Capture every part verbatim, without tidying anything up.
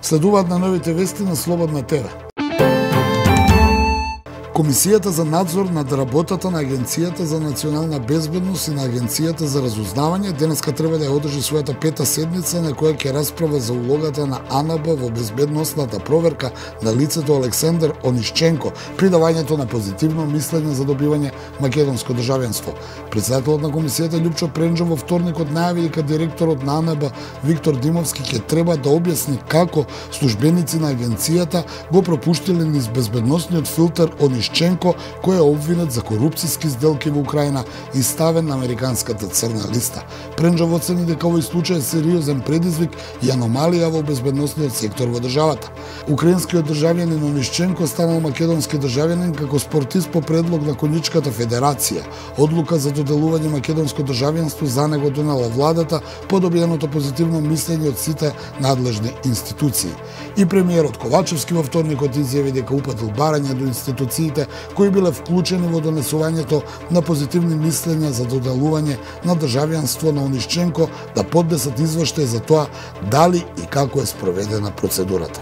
Следуваат на новите вести на Слободна ТВ. Комисијата за надзор над работата на Агенцијата за национална безбедност и на Агенцијата за разузнавање денеска треба да ја одржи својата пета седница на која ќе расправа за улогата на АНБ во безбедносната проверка на лицето Александар Онишченко при давањето на позитивно мислење за добивање македонско државенство. Председателот на комисијата Љупчо Пренџов во вторникот најави дека директорот на АНБ Виктор Димовски ќе треба да објасни како службеници на агенцијата го пропуштиле низ безбедносниот филтер Онишченко кој е обвинет за корупцијски сделки во Украина и ставен на американската црна листа. Пренџов оцени дека овој случај е сериозен предизвик и аномалија во безбедносниот сектор во државата. Украинскиот државјанин Онишченко станал македонски државјанин како спортист по предлог на Конјичката федерација. Одлука за доделување македонско државјанство за него донела владата по добиеното позитивно мислење од сите надлежни институции. И премиерот Ковачевски во вторникот изјави дека упатил барање до институциите кои биле вклучени во донесувањето на позитивни мислења за доделување на државјанство на Онишченко да поднесат извештај за тоа дали и како е спроведена процедурата.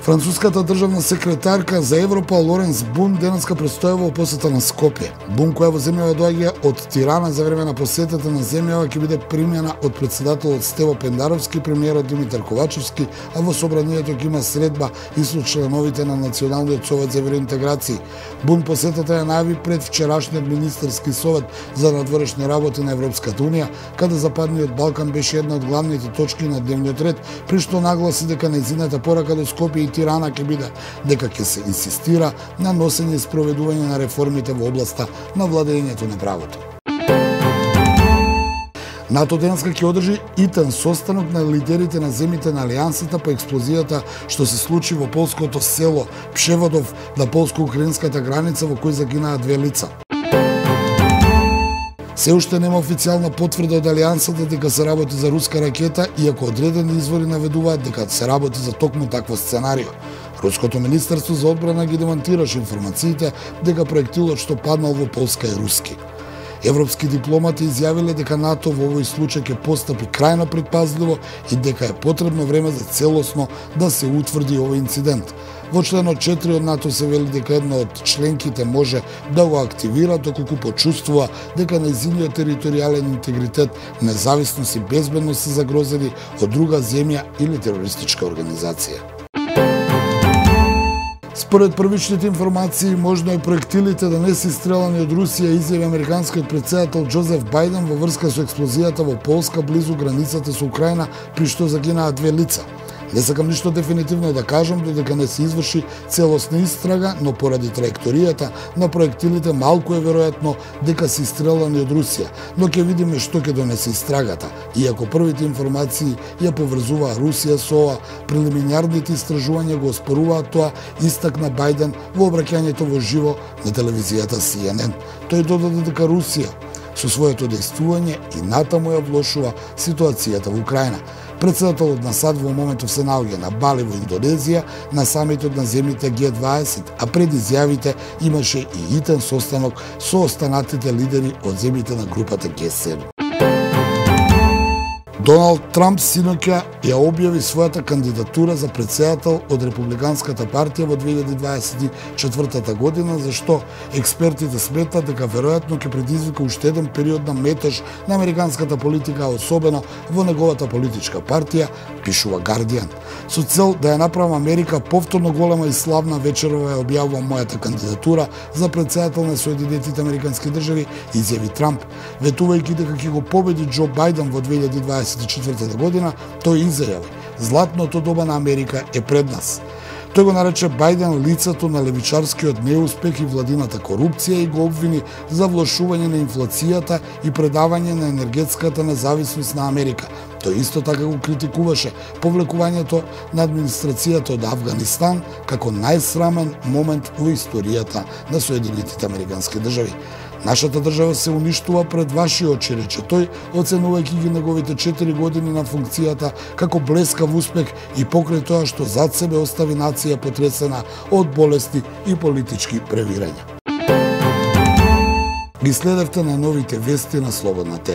Француската државна секретарка за Европа Лоренс Бун денеска престојава во посета на Скопје. Бун, која во земјава доаѓа од Тирана за време на посетата на земјава, ќе биде примена од председателот Стево Пендаровски, премиерот Димитар Ковачевски, а во собранието ќе има средба и со членовите на Националниот совет за евроинтеграција. Бун посетата ја најави пред вчерашниот министерски совет за надворешни работи на Европската унија, каде Западниот Балкан беше една од главните точки на дневниот ред, при што нагласи дека нејзината порака до Скопје и Тирана ќе биде дека ќе се инсистира на носење и спроведување на реформите во областа на владењето на правото. НАТО денеска ќе одржи итен состанок на лидерите на земјите на Алијансата по експлозијата што се случи во полското село Пшеводов на полско-украинската граница, во кој загинаа две лица. Се уште нема официјална потврда од Алијансата дека се работи за руска ракета, иако одредени извори наведуваат дека се работи за токму такво сценарио. Руското министерство за одбрана ги демантираше информациите дека проектилот што паднал во Полска е руски. Европски дипломати изјавиле дека НАТО во овој случај ќе постапи крајно предпазливо и дека е потребно време за целосно да се утврди овој инцидент. Во членот четири од НАТО се вели дека една од членките може да го активира доколку почувствува дека нејзиниот територијален интегритет, независност и безбедност се загрозени од друга земја или терористичка организација. Според првичните информации, можно е проектилите да не се истрелани од Русија, изјави американскиот претседател Џозеф Бајден во врска со експлозијата во Полска близу границата со Украина, при што загинаа две лица. Не сакам ништо дефинитивно да кажам додека не се изврши целосна истрага, но поради траекторијата на проектилите малку е веројатно дека се истрелани од Русија, но ќе видиме што ќе донесе истрагата. Иако првите информации ја поврзуваа Русија со ова, прелиминарните истражувања го оспоруваат тоа, истакна Бајден во обраќањето во живо на телевизијата Си Ен Ен. Тој додаде дека Русија со своето дејствување и натаму ја влошува ситуацијата во Украина. Председателот на САД во моментов се наоѓа на Бали во Индонезија, на самитот на земјите Ге дваесет, а пред изјавите имаше и итен состанок со останатите лидери од земјите на групата Ге седум. Доналд Трамп синоќа ја објави својата кандидатура за председател од Републиканската партија во две илјади дваесет и четвртата година, за што експертите сметат дека веројатно ќе предизвика уште еден период на метеж на американската политика, особено во неговата политичка партија, пишува Гардијан. Со цел да ја направам Америка повторно голема и славна, вечерова ја објавувам мојата кандидатура за председател на Соединетите американски држави, изјави Трамп, ветувајќи дека ќе го победи Џо Бајден во две илјади дваесет и четвртата година. Тој изјави: "Златното доба на Америка е пред нас." Тој го нарече Бајден лицето на левичарскиот неуспех и владината корупција и го обвини за влошување на инфлацијата и предавање на енергетската независност на Америка. Тој исто така го критикуваше повлекувањето на администрацијата од Авганистан како најсрамен момент во историјата на Соединетите американски држави. Нашата држава се уништува пред ваши очи, рече тој, оценувајќи ги неговите четири години на функцијата како блескав успех и покрај тоа што зад себе остави нација потресена од болести и политички превирања. Ги следевте на новите вести на Слободна ТВ.